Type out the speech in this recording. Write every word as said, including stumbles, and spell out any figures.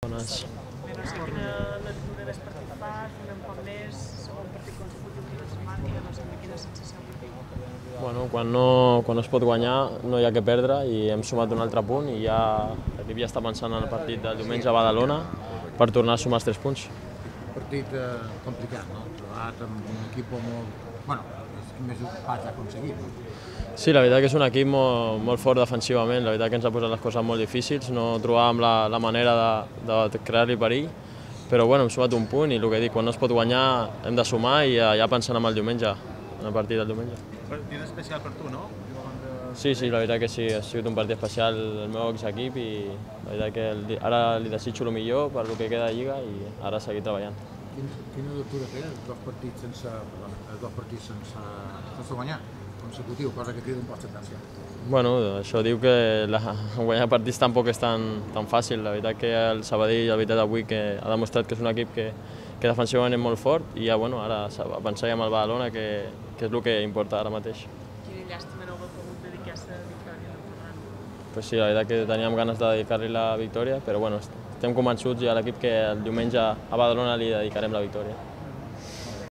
Bones. Bé, no sé quina lectura del partit fas, un poc més, un partit consecutiu que no es marqui, no sé quina sensació que tinc. Bueno, quan no, quan no es pot guanyar no hi ha que perdre i hem sumat un altre punt i ja l'equip ja està pensant en el partit del diumenge a Badalona per tornar a sumar els tres punts. Un partit eh, complicat, no? Trobat amb un equip molt... Bueno, és que més ocupats ha aconseguit, no? Sí, la veritat que és un equip molt, molt fort defensivament, la veritat que ens ha posat les coses molt difícils, no trobàvem la, la manera de, de crear-li perill, però bueno, hem sumat un punt i el que dic, quan no es pot guanyar hem de sumar i ja, ja pensant en el diumenge, en el partit del diumenge. Partit especial per tu, no? Sí, sí, la veritat que sí, ha sigut un partit especial el meu exequip i la veritat que el, ara li desitjo el millor per el que queda de Lliga i ara seguir treballant. Quin, quina lectura té els dos partits sense, perdona, els dos partits sense, sense guanyar, consecutiu, cosa que crida un poc d'atenció? Bueno, això diu que la, guanyar partits tampoc és tan, tan fàcil. La veritat que el Sabadell, la veritat avui, que ha demostrat que és un equip que, que defensivament és molt fort i ja, bueno, ara a pensar ja amb el Badalona, que, que és el que importa ara mateix. Quina llàstima no haver pogut dedicar-se a la victòria del Ferran. Pues sí, la veritat que teníem ganes de dedicar-li la victòria, però bueno, estem convençuts ja a l'equip que el diumenge a Badalona li dedicarem la victòria.